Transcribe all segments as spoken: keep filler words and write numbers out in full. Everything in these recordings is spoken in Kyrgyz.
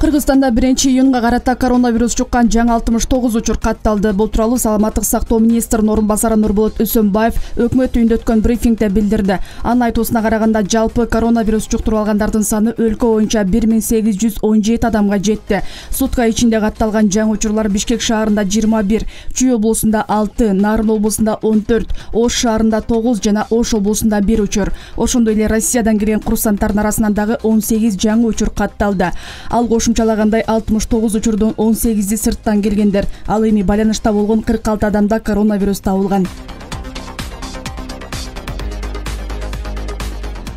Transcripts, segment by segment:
Кыргызстанда биринчи июнга карата коронавирус жуккан жаңы алтымыш тогуз учур катталды. Бул тууралуу Саламаттык сактоо министринин орун басары Нурболот Өсөнбаев өкмөт үйүндө өткөн брифингде билдирди. Анын айтуусуна караганда жалпы коронавирус жуктуруп алгандардын саны өлкө боюнча бир миң сегиз жүз он жети адамга жетти. Сутка ичинде катталган жаңы учурлар Бишкек шаарында жыйырма бир, Чүй облусунда алты, Нарын облусунда он төрт, Ош шаарында тогуз жана Ош облусунда бир учур. Ошондой эле Россиядан кирген курсанттардын арасынан дагы он сегиз жаңы учур катталды. Ал кошумчалагандай алтымыш тогуз учурдун он сегизи сырттан келгендер. Ал эми байланышта болгон кырк алты адамда коронавирус табылган.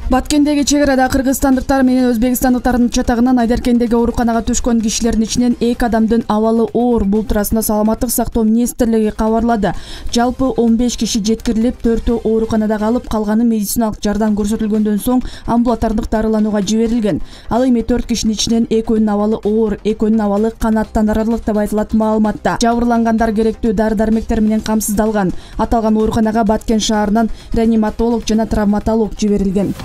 Баткендеги чек арада кыргызстандыктар менен өзбекстандыктардын чатагынан Айдаркендеги ооруканага түшкөн кишилердин ичинен эки адамдын абалы оор. Бул туурасында Саламаттык сактоо министрлиги кабарлады. Жалпы он беш киши жеткирилип, төртөө ооруканада калып, калганы медициналык жардам көрсөтүлгөндөн соң амбулатордук дарыланууга жиберилген. Ал эми төрт кишинин ичинен экөөнүн абалы оор, экөөнүн абалы канааттанарлык деп айтылат маалыматта. Жабырлангандар керектүү дары-дармектер менен камсыздалган. Аталган ооруканага Баткен шаарынан реаниматолог жана травматолог жиберилген.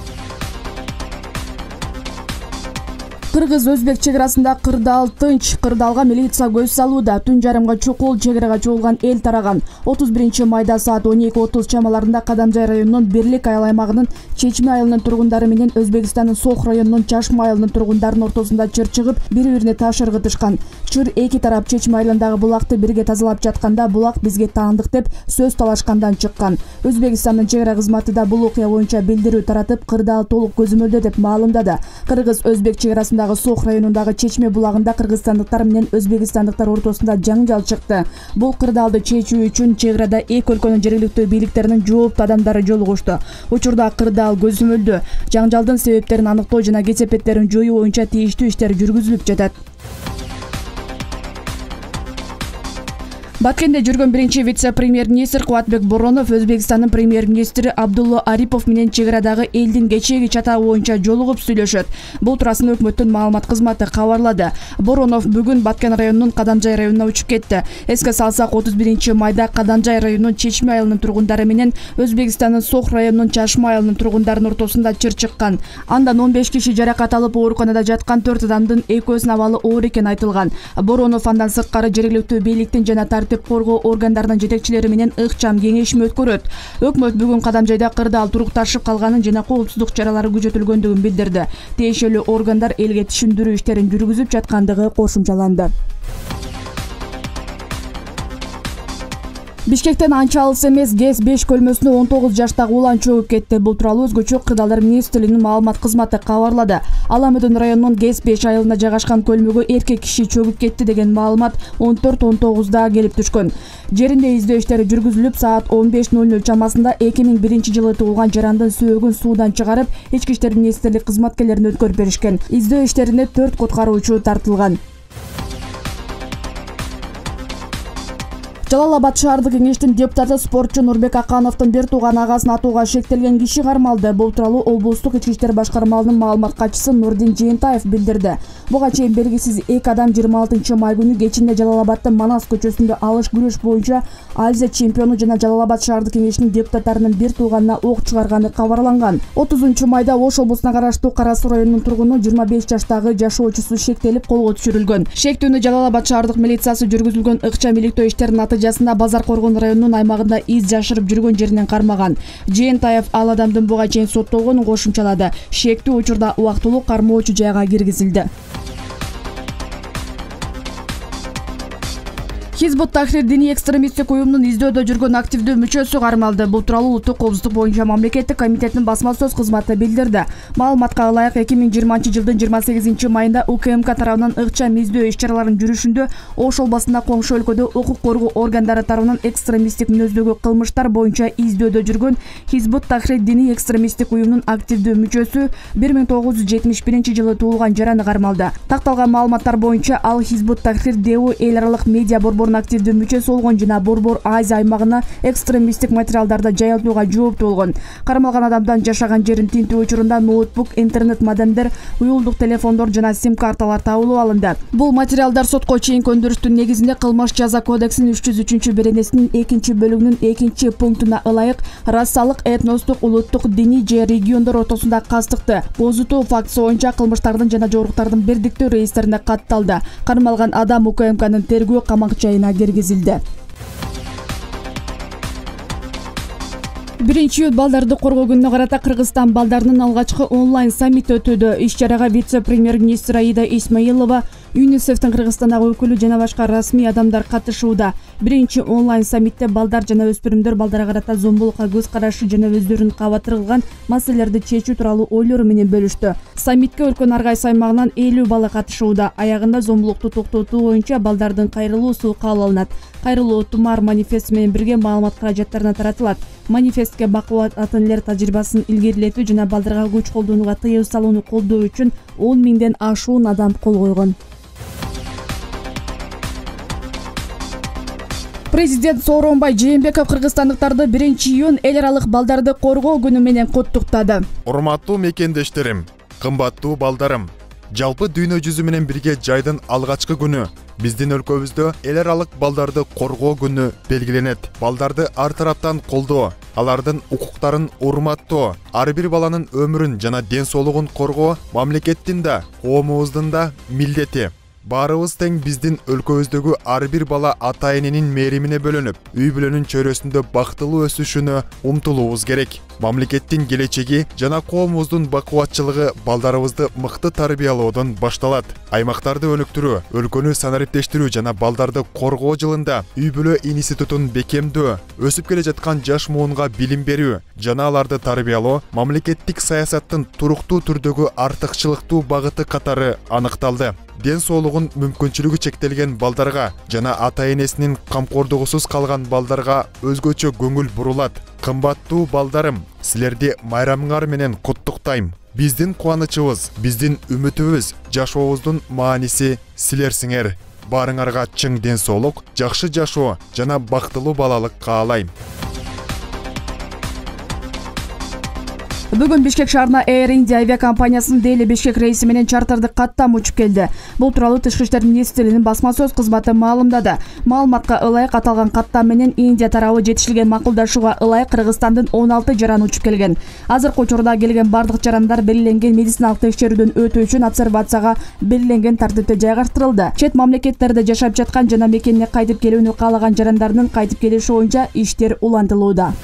Кыргыз-өзбек чек арасында кырдаал тынч, кырдаалга милиция көз салууда. Түн жарымга чукул чек арага чогулган эл тараган. отуз биринчи майда саат он эки отуз чамаларында Кадамжай районунун Бирлик айыл аймагынын Чечме айылынын тургундары менен Өзбекстандын Сох районунун Чашма айылынын тургундарынын ортосунда чыр чыгып, бири-бирине таш ыргытышкан. Чыр эки тарап Чечме айылындагы булакты бирге тазалап жатканда булак бизге таандык деп сөз талашкандан чыккан. Өзбекстандын чек ара кызматы да бул окуя боюнча билдирүү таратып, кырдаал толук көзөмөлдө деп маалымдады. Кыргыз-өзбек чек арасында Сох районундагы Чечме булагында кыргызстандыктар менен өзбекстандыктар ортосунда жаңжал чыкты. Бул кырдаалды чечүү үчүн чек арада эки өлкөнүн жергиликтүү бийликтеринин жооптуу адамдары жолугушту. Учурда кырдаал көзөмөлдө. Жаңжалдын себептерин аныктоо жана кесепеттерин жоюу боюнча тийиштүү иштер жүргүзүлүп жатат. Баткенде жүргөн биринчи вице-премьер-министр Кубатбек Боронов Өзбекстандын премьер-министри Абдулла Арипов менен чек арадагы элдин кечээги чатагы боюнча жолугуп сүйлөшөт. Бул туурасында өкмөттүн маалымат кызматы кабарлады. Боронов бүгүн Баткен районунун Кадамжай районуна учуп кетти. Эске салсак, отуз биринчи майда Кадамжай районунун Чечме айылынын тургундары менен Өзбекстандын Сох районунун Чашма айылынын тургундарынын ортосунда чыр чыккан. Андан он беш киши жаракат алып, ооруканада жаткан төрт адамдын экөөсүнүн абалы оор экени айтылган. Боронов андан сырткары жергиликтүү бийликтин жана тартип коргоо органдарынын жетекчилери менен ыкчам кеңешме өткөрөт. Өкмөт бүгүн Кадамжайда кырдаал турукташып калганын жана коопсуздук чаралары күчөтүлгөндүгүн билдирди. Тиешелүү органдар элге түшүндүрүү иштерин жүргүзүп жаткандыгы кошумчаланды. Бишкектен анча алыс эмес ГЭС беш көлмөсүнө он тогуз жаштагы улан чөгүп кетти. Бул тууралуу өзгөчө Кырдаалдар министрлигинин маалымат кызматы кабарлады. Аламүдүн районунун ГЭС беш айылына жайгашкан көлмөгө эркек киши чөгүп кетти деген маалымат он төрт он тогузда келип түшкөн. Жеринде издөө иштери жүргүзүлүп, саат он беш ноль ноль чамасында эки миң биринчи жылы туулган жарандын сөөгүн суудан чыгарып, ички иштер министрлик кызматкерлерине өткөрүп беришкен. Издөө иштерине төрт куткаруучу тартылган. Жалал-Абад шаардык кеңештин депутаты спортчу Нурбек Акановдун бир тууган агасын атууга шектелген киши кармалды. Бул тууралуу облустук ички иштер башкармалынын маалымат катчысы Нурдин Жыйынтаев билдирди. Буга чейин белгисиз эки адам жыйырма алтынчы май күнү кечинде Жалал-Абадтын Манас көчөсүндө алыш күрөш боюнча Азия чемпиону жана Жалал-Абад шаардык кеңешинин депутаттарынын бир тууганына ок чыгарганы кабарланган. отузунчу майда Ош облусуна караштуу Кара Суу районунун тургуну жыйырма беш жаштагы жашоочусу шектелип колго түшүрүлгөн. Шектүүнү Жалал-Абад шаардык милициясы жүргүзүлгөн ыкчам иликтөө иштеринин натыйжасында Базар Коргон районунун аймагында из жашырып жүргөн жеринен кармаган. Жыйынтаев ал адамдын буга чейин соттолгонун кошумчалады. Шектүү учурда убактылуу кармоочу жайга киргизилди. Хизбут Тахрир диний экстремисттик уюмунун издөөдө жүргөн активдүү мүчөсү кармалды. Бул тууралуу Улуттук коопсуздук боюнча мамлекеттик комитеттин басма сөз кызматы билдирди. Маалыматка ылайык эки миң жыйырманчы жылдын жыйырма сегизинчи майында УКМК тарабынан ыкчам издөө иш-чараларынын жүрүшүндө Ош областында коңшу өлкөдө укук коргоо органдары тарабынан экстремисттик мүнөздөгү кылмыштар боюнча издөөдө жүргөн Хизбут Тахрир диний экстремисттик уюмунун активдүү мүчөсү бир миң тогуз жүз жетимиш биринчи жылы туулган жараны кармалды. Такталган маалыматтар боюнча ал Хизбут Тахрир Деву эл аралык медиа борборунун топторунун активдүү мүчөсү болгон жана Борбор Азия аймагына экстремисттик материалдарды жайылтууга жооптуу болгон. Кармалган адамдан жашаган жерин тинтүү учурунда ноутбук, интернет модемдер, уюлдук телефондор жана сим карталар табылып алынды. Бул материалдар сотко чейинки өндүрүштүн негизинде Кылмыш жаза кодексинин үч жүз үчүнчү беренесинин экинчи бөлүгүнүн экинчи пунктуна ылайык расалык, этностук, улуттук, диний же региондор ортосунда кастыкты бузутуу фактысы боюнча кылмыштардын жана жоруктардын бирдиктүү реестрине катталды. Кармалган адам УКМКнын тергөө камак жайына киргизилди. биринчи июль балдарды коргоо күнүнө карата Кыргызстан балдарынын алгачкы онлайн саммити өтүүдө. Иш-чарага вице-премьер-министр Аида Исмаилова, ЮНИСЕФтин Кыргызстандагы өкүлү жана башка расмий адамдар катышууда. Биринчи онлайн саммитте балдар жана өспүрүмдөр балдарга карата зомбулукка көз карашы жана өздөрүнүн кабатыр кылган маселелерди чечүү тууралуу ойлору менен бөлүштү. Саммитке өлкөнүн ар кайсы аймагынан элүү бала катышууда. Аягында зомбулукту токтотуу боюнча балдардын кайрылуусу кабыл алынат. Кайрылуу Тумар манифести менен бирге маалымат каражаттарына таратылат. Манифестке бакубат ата энелер тажрыйбасын илгерилетүү жана балдарга күч колдонууга тыюу салууну колдоо үчүн он миңден ашуун адам кол койгон. Президент Сооронбай Жээнбеков кыргызстандыктарды биринчи июнь эл аралык балдарды коргоо күнү менен куттуктады. Урматтуу мекендештерим, кымбаттуу балдарым, жалпы дүйнө жүзү менен бирге жайдын алгачкы күнү биздин өлкөбүздө эл аралык балдарды коргоо күнү белгиленет. Балдарды ар тараптан колдоо, алардын укуктарын урматтоо, ар бир баланын өмүрүн жана ден соолугун коргоо мамлекеттин да, коомубуздун да милдети. Баарыбыз тең биздин өлкөбүздөгү ар бир бала ата эненин мээримине бөлөнүп, үй бүлөнүн чөйрөсүндө бактылуу өсүшүнө умтулуубуз керек. Мамлекеттин келечеги жана коомубуздун бакубатчылыгы балдарыбызды мыкты тарбиялоодон башталат. Аймактарды өнүктүрүү, өлкөнү санариптештирүү жана балдарды коргоо жылында үй бүлө институтун бекемдөө, өсүп келе жаткан жаш муунга билим берүү жана аларды тарбиялоо мамлекеттик саясаттын туруктуу түрдөгү артыкчылыктуу багыты катары аныкталды. Ден соолугун мүмкүнчүлүгү чектелген балдарга жана ата энесинин камкордугусуз калган балдарга өзгөчө көңүл бурулат. Кымбаттуу балдарым, силерди майрамыңар менен куттуктайм. Биздин кубанычыбыз, биздин үмүтүбүз, жашообуздун мааниси силерсиңер. Баарыңарга чың ден соолук, жакшы жашоо жана бактылуу балалык каалайм. Бүгүн Бишкек шаарына Air India авиакомпаниясынын Дели Бишкек рейси менен чартардык каттам учуп келди. Бул тууралуу Тышкы иштер министрлигинин басма сөз кызматы маалымдады. Маалыматка ылайык аталган каттам менен Индия тарабы жетишилген макулдашууга ылайык Кыргызстандын он алты жараны учуп келген. Азыркы учурда келген бардык жарандар белгиленген медициналык текшерүүдөн өтүү үчүн обсервацияга белгиленген тартипте жайгаштырылды. Чет мамлекеттерде жашап жаткан жана мекенине кайтып келүүнү каалаган жарандардын кайтып келиши боюнча иштер улантылууда.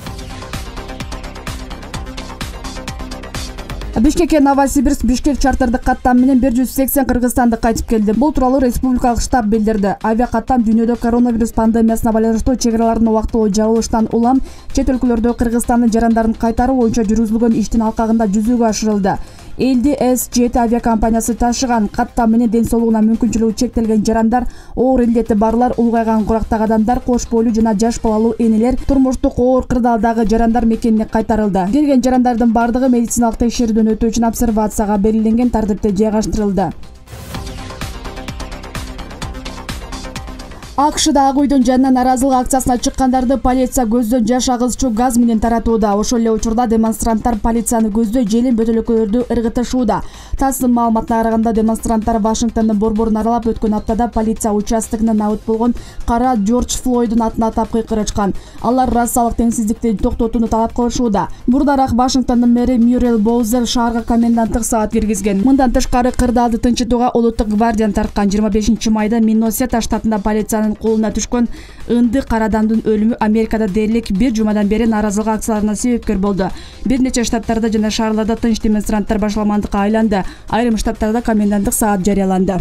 Бишкекке Новосибирск Бишкек чартардык каттам менен бир жүз сексен кыргызстандык кайтып келди. Бул тууралуу республикалык штаб билдирди. Авиакаттам дүйнөдө коронавирус пандемиясына байланыштуу чек-аралардын убактылуу жабылыштан улам чет өлкөлөрдө Кыргызстандын жарандарын кайтаруу боюнча жүргүзүлгөн иштин алкагында жүзөгө ашырылды. Элди С жети авиакомпаниясы ташыган каттам менен ден соолугуна мүмкүнчүлүгү чектелген жарандар, оор илдети барлар, улгайган курактагы адамдар, кош бойлуу жана жаш балалуу энелер, турмуштук оор кырдаалдагы жарандар мекенине кайтарылды. Келген жарандардын бардыгы медициналык текшерүүдөн өтүү үчүн обсервацияга белгиленген тартипте жайгаштырылды. АКШда Ак үйдүн жанынан наразылык акциясына чыккандарды полиция көздөн жаш агызчу газ менен таратууда. Ошол эле учурда демонстранттар полицияны көздөй желин бөтөлкөлөрдү ыргытышууда. ТАССтын маалыматына караганда демонстранттар Вашингтондун борборун аралап өткөн аптада полиция участогуна набыт болгон кара Джордж Флойддун атын атап кыйкырышкан. Алар расалык теңсиздикти токтотууну талап кылышууда. Бурдараак Вашингтондун мэри Мюррел Боузер шаарга коменданттык саат киргизген. Мындан тышкары кырдаалды тынчытууга улуттук гвардияны тарткан. жыйырма бешинчи майда Миннесота штатында полициянын колуна түшкөн ынды кара адамдын өлүмү Америкада дээрлик бир жумадан бери наразылык акцияларына себепкер болду. Бир нече штаттарда жана шаарларда тынч демонстранттар башаламандыкка айланды. Айрым штаттарда коменданттык саат жарыяланды.